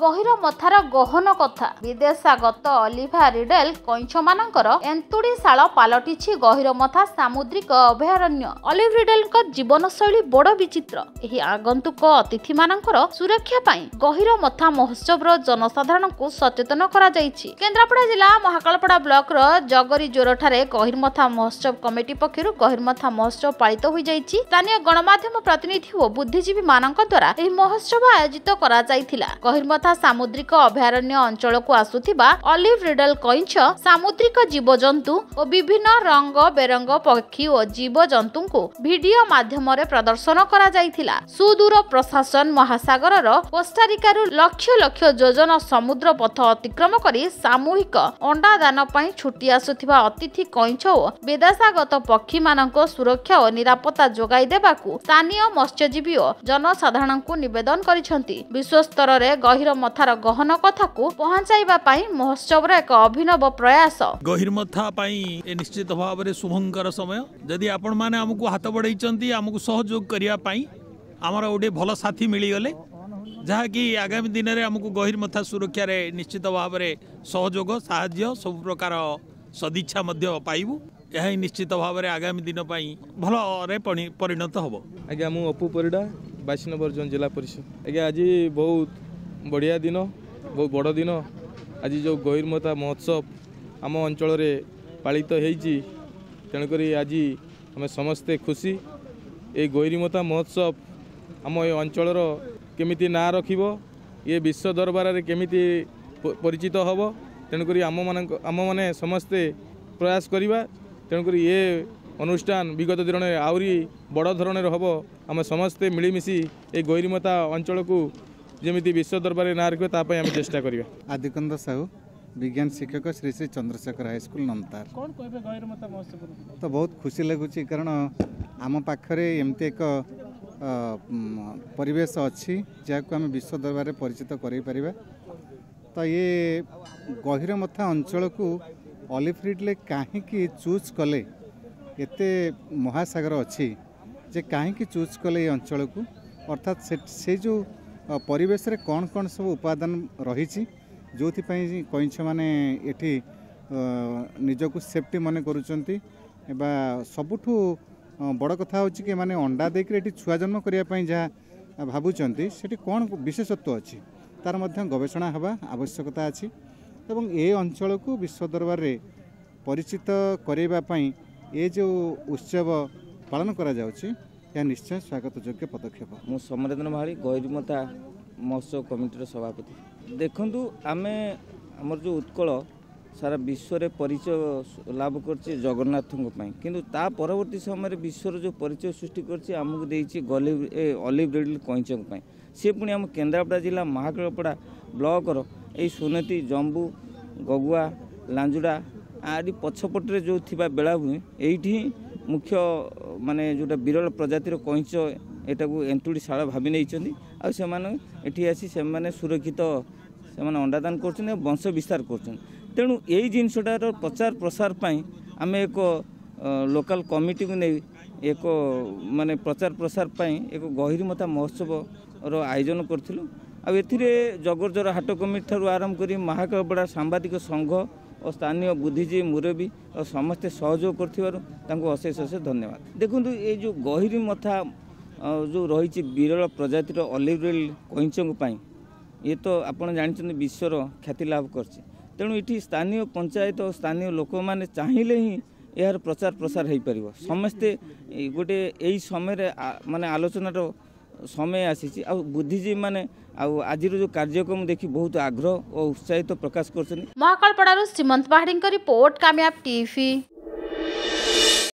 ଗହୀରମଥାର ଗହନ କଥା। ବିଦେଶାଗତ ଅଲିଭା ରିଡେଲ କଇଁଛମାନଙ୍କର ଏନ୍ତୁଡ଼ିଶାଳ ପାଲଟିଛି ଗହୀରମଥା ସାମୁଦ୍ରିକ ଅଭୟାରଣ୍ୟ। ଅଲିଭ ରିଡେଲଙ୍କ ଜୀବନଶୈଳୀ ବଡ଼ ବିଚିତ୍ର। ଏହି ଆଗନ୍ତୁକ ଅତିଥିମାନଙ୍କର ସୁରକ୍ଷା ପାଇଁ ଗହୀରମଥା ମହୋତ୍ସବର ଜନସାଧାରଣଙ୍କୁ ସଚେତନ କରାଯାଇଛି। କେନ୍ଦ୍ରାପଡ଼ା ଜିଲ୍ଲା ମହାକାଳପଡ଼ା ବ୍ଲକର ଜଗରିଜୋରଠାରେ ଗହୀରମଥା ମହୋତ୍ସବ କମିଟି ପକ୍ଷରୁ ଗହୀରମଥା ମହୋତ୍ସବ ପାଳିତ ହୋଇଯାଇଛି। ସ୍ଥାନୀୟ ଗଣମାଧ୍ୟମ ପ୍ରତିନିଧି ଓ ବୁଦ୍ଧିଜୀବୀମାନଙ୍କ ଦ୍ୱାରା ଏହି ମହୋତ୍ସବ ଆୟୋଜିତ କରାଯାଇଥିଲା। ଗହୀରମଥା ସାମୁଦ୍ରିକ ଅଭୟାରଣ୍ୟ ଅଞ୍ଚଳକୁ ଆସୁଥିବା ଅଲିଭ ରିଡଲ କଇଁଛ, ସାମୁଦ୍ରିକ ଜୀବଜନ୍ତୁ ଓ ବିଭିନ୍ନ ରଙ୍ଗ ବେରଙ୍ଗ ପକ୍ଷୀ ଓ ଜୀବଜନ୍ତୁଙ୍କୁ ଭିଡିଓ ମାଧ୍ୟମରେ ପ୍ରଦର୍ଶନ କରାଯାଇଥିଲା। ସୁଦୂର ପ୍ରଶାସନ ମହାସାଗରର କୋଷ୍ଟାରିକାରୁ ଲକ୍ଷ ଲକ୍ଷ ଯୋଜନ ସମୁଦ୍ର ପଥ ଅତିକ୍ରମ କରି ସାମୂହିକ ଅଣ୍ଡାଦାନ ପାଇଁ ଛୁଟି ଆସୁଥିବା ଅତିଥି କଇଁଛ ଓ ବିଦେଶାଗତ ପକ୍ଷୀମାନଙ୍କ ସୁରକ୍ଷା ଓ ନିରାପତ୍ତା ଯୋଗାଇ ଦେବାକୁ ସ୍ଥାନୀୟ ମତ୍ସ୍ୟଜୀବୀ ଓ ଜନସାଧାରଣଙ୍କୁ ନିବେଦନ କରିଛନ୍ତି। ବିଶ୍ୱସ୍ତରରେ ଗହୀରମଥାର ଗହନ କଥାକୁ ପହଞ୍ଚାଇବା ପାଇଁ ମହୋତ୍ସବର ଏକ ଅଭିନବ ପ୍ରୟାସ। ଗହୀରମଥା ପାଇଁ ଏ ନିଶ୍ଚିତ ଭାବରେ ଶୁଭଙ୍କର ସମୟ। ଯଦି ଆପଣମାନେ ଆମକୁ ହାତ ବଢ଼େଇଛନ୍ତି, ଆମକୁ ସହଯୋଗ କରିବା ପାଇଁ ଆମର ଗୋଟେ ଭଲ ସାଥୀ ମିଳିଗଲେ, ଯାହାକି ଆଗାମୀ ଦିନରେ ଆମକୁ ଗହୀରମଥା ସୁରକ୍ଷାରେ ନିଶ୍ଚିତ ଭାବରେ ସହଯୋଗ, ସାହାଯ୍ୟ, ସବୁ ପ୍ରକାର ସଦିଚ୍ଛା ମଧ୍ୟ ପାଇବୁ। ଏହା ହିଁ ନିଶ୍ଚିତ ଭାବରେ ଆଗାମୀ ଦିନ ପାଇଁ ଭଲରେ ପରିଣତ ହେବ। ଆଜ୍ଞା, ମୁଁ ଅପୁ ପରିଡ଼ା, 22 ନମ୍ବର ଜୋନ୍ ଜିଲ୍ଲା ପରିଷଦ। ଆଜ୍ଞା, ଆଜି ବହୁତ ବଢ଼ିଆ ଦିନ, ବହୁତ ବଡ଼ ଦିନ। ଆଜି ଯେଉଁ ଗହୀରମଥା ମହୋତ୍ସବ ଆମ ଅଞ୍ଚଳରେ ପାଳିତ ହେଇଛି, ତେଣୁକରି ଆଜି ଆମେ ସମସ୍ତେ ଖୁସି। ଏଇ ଗହୀରମଥା ମହୋତ୍ସବ ଆମ ଏ ଅଞ୍ଚଳର କେମିତି ନାଁ ରଖିବ, ଇଏ ବିଶ୍ୱ ଦରବାରରେ କେମିତି ପରିଚିତ ହେବ, ତେଣୁକରି ଆମମାନେ ସମସ୍ତେ ପ୍ରୟାସ କରିବା। ତେଣୁକରି ଏ ଅନୁଷ୍ଠାନ ବିଗତ ଦିନରେ ଆହୁରି ବଡ଼ ଧରଣର ହେବ। ଆମେ ସମସ୍ତେ ମିଳିମିଶି ଏଇ ଗହୀରମଥା ଅଞ୍ଚଳକୁ ଯେମିତି ବିଶ୍ୱ ଦରବାରରେ ନାଁ ରଖିବ, ତା ପାଇଁ ଆମେ ଚେଷ୍ଟା କରିବା। ଆଦିକନ୍ଦ ସାହୁ, ବିଜ୍ଞାନ ଶିକ୍ଷକ, ଶ୍ରୀ ଶ୍ରୀ ଚନ୍ଦ୍ରଶେଖର ହାଇସ୍କୁଲ, ନମତାର। କ'ଣ କହିବେ ଗହୀରମଥା ମହୋତ୍ସବ? ତ ବହୁତ ଖୁସି ଲାଗୁଛି, କାରଣ ଆମ ପାଖରେ ଏମିତି ଏକ ପରିବେଶ ଅଛି ଯାହାକୁ ଆମେ ବିଶ୍ୱ ଦରବାରରେ ପରିଚିତ କରାଇପାରିବା। ତ ଇଏ ଗହୀରମଥା ଅଞ୍ଚଳକୁ ଅଲିଭ ରିଡଲେ କାହିଁକି ଚୁଜ୍ କଲେ? ଏତେ ମହାସାଗର ଅଛି ଯେ କାହିଁକି ଚୁଜ୍ କଲେ ଏ ଅଞ୍ଚଳକୁ? ଅର୍ଥାତ୍ ସେ ଯେଉଁ ପରିବେଶରେ କ'ଣ କ'ଣ ସବୁ ଉପାଦାନ ରହିଛି ଯେଉଁଥିପାଇଁ କଇଁଛମାନେ ଏଠି ନିଜକୁ ସେଫ୍ଟି ମନେ କରୁଛନ୍ତି, ବା ସବୁଠୁ ବଡ଼ କଥା ହେଉଛି କି ଏମାନେ ଅଣ୍ଡା ଦେଇକରି ଏଠି ଛୁଆ ଜନ୍ମ କରିବା ପାଇଁ ଯାହା ଭାବୁଛନ୍ତି, ସେଠି କ'ଣ ବିଶେଷତ୍ୱ ଅଛି ତାର ମଧ୍ୟ ଗବେଷଣା ହେବା ଆବଶ୍ୟକତା ଅଛି। ଏବଂ ଏ ଅଞ୍ଚଳକୁ ବିଶ୍ୱ ଦରବାରରେ ପରିଚିତ କରାଇବା ପାଇଁ ଏ ଯେଉଁ ଉତ୍ସବ ପାଳନ କରାଯାଉଛି, ଏହା ନିଶ୍ଚୟ ସ୍ୱାଗତ ଯୋଗ୍ୟ ପଦକ୍ଷେପ। ମୁଁ ସମରେନ୍ଦ୍ର ମହାଳି, ଗହୀରମଥା ମହୋତ୍ସବ କମିଟିର ସଭାପତି। ଦେଖନ୍ତୁ, ଆମେ ଆମର ଯେଉଁ ଉତ୍କଳ ସାରା ବିଶ୍ୱରେ ପରିଚୟ ଲାଭ କରିଛି ଜଗନ୍ନାଥଙ୍କ ପାଇଁ, କିନ୍ତୁ ତା ପରବର୍ତ୍ତୀ ସମୟରେ ବିଶ୍ୱର ଯେଉଁ ପରିଚୟ ସୃଷ୍ଟି କରିଛି, ଆମକୁ ଦେଇଛି ଅଲିଭ ରିଡଲି କଇଁଚଙ୍କ ପାଇଁ। ସିଏ ପୁଣି ଆମ କେନ୍ଦ୍ରାପଡ଼ା ଜିଲ୍ଲା ମହାକାଳପଡ଼ା ବ୍ଲକର ଏଇ ସୁନତି, ଜମ୍ବୁ, ଗଗୁଆ, ଲାଞ୍ଜୁଡ଼ା ଆରି ପଛପଟରେ ଯେଉଁ ଥିବା ବେଳାଭୂମି, ଏଇଠି ହିଁ ମୁଖ୍ୟ ମାନେ ଯେଉଁଟା ବିରଳ ପ୍ରଜାତିର କଇଁଚ ଏଟାକୁ ଏନ୍ତୁଡ଼ିଶାଳ ଭାବି ନେଇଛନ୍ତି। ଆଉ ସେମାନେ ଏଠି ଆସି ସେମାନେ ସୁରକ୍ଷିତ ସେମାନେ ଅଣ୍ଡାଦାନ କରୁଛନ୍ତି ଆଉ ବଂଶ ବିସ୍ତାର କରୁଛନ୍ତି। ତେଣୁ ଏଇ ଜିନିଷଟାର ପ୍ରଚାର ପ୍ରସାର ପାଇଁ ଆମେ ଏକ ଲୋକାଲ କମିଟିକୁ ନେଇ ଏକ ମାନେ ପ୍ରଚାର ପ୍ରସାର ପାଇଁ ଏକ ଗହୀରମଥା ମହୋତ୍ସବର ଆୟୋଜନ କରିଥିଲୁ। ଆଉ ଏଥିରେ ଜଗରଜର ହାଟ କମିଟି ଠାରୁ ଆରମ୍ଭ କରି ମହାକାଳପଡ଼ା ସାମ୍ବାଦିକ ସଂଘ ଓ ସ୍ଥାନୀୟ ବୁଦ୍ଧିଜୀବୀ, ମୁରବୀ ଓ ସମସ୍ତେ ସହଯୋଗ କରିଥିବାରୁ ତାଙ୍କୁ ଅଶେଷ ଅଶେଷ ଧନ୍ୟବାଦ। ଦେଖନ୍ତୁ, ଏଇ ଯେଉଁ ଗହୀରମଥା ଯେଉଁ ରହିଛି ବିରଳ ପ୍ରଜାତିର ଅଲିଭ ରିଡଲି କଇଁଚଙ୍କ ପାଇଁ, ଇଏ ତ ଆପଣ ଜାଣିଛନ୍ତି ବିଶ୍ୱର ଖ୍ୟାତି ଲାଭ କରିଛି। ତେଣୁ ଏଠି ସ୍ଥାନୀୟ ପଞ୍ଚାୟତ ଓ ସ୍ଥାନୀୟ ଲୋକମାନେ ଚାହିଁଲେ ହିଁ ଏହାର ପ୍ରଚାର ପ୍ରସାର ହୋଇପାରିବ। ସମସ୍ତେ ଗୋଟେ ଏଇ ସମୟରେ ମାନେ ଆଲୋଚନାର ସମୟ ଆସିଛି, ଆଉ ବୁଦ୍ଧିଜୀବୀମାନେ ଆଉ ଆଜିର ଯେଉଁ କାର୍ଯ୍ୟକ୍ରମ ଦେଖି ବହୁତ ଆଗ୍ରହ ଓ ଉତ୍ସାହିତ ପ୍ରକାଶ କରୁଛନ୍ତି। ମହାକାଳପଡ଼ାରୁ ଶ୍ରୀମନ୍ତ ପାହାଡ଼ିଙ୍କ ରିପୋର୍ଟ, କାମୟାବ ଟିଭି।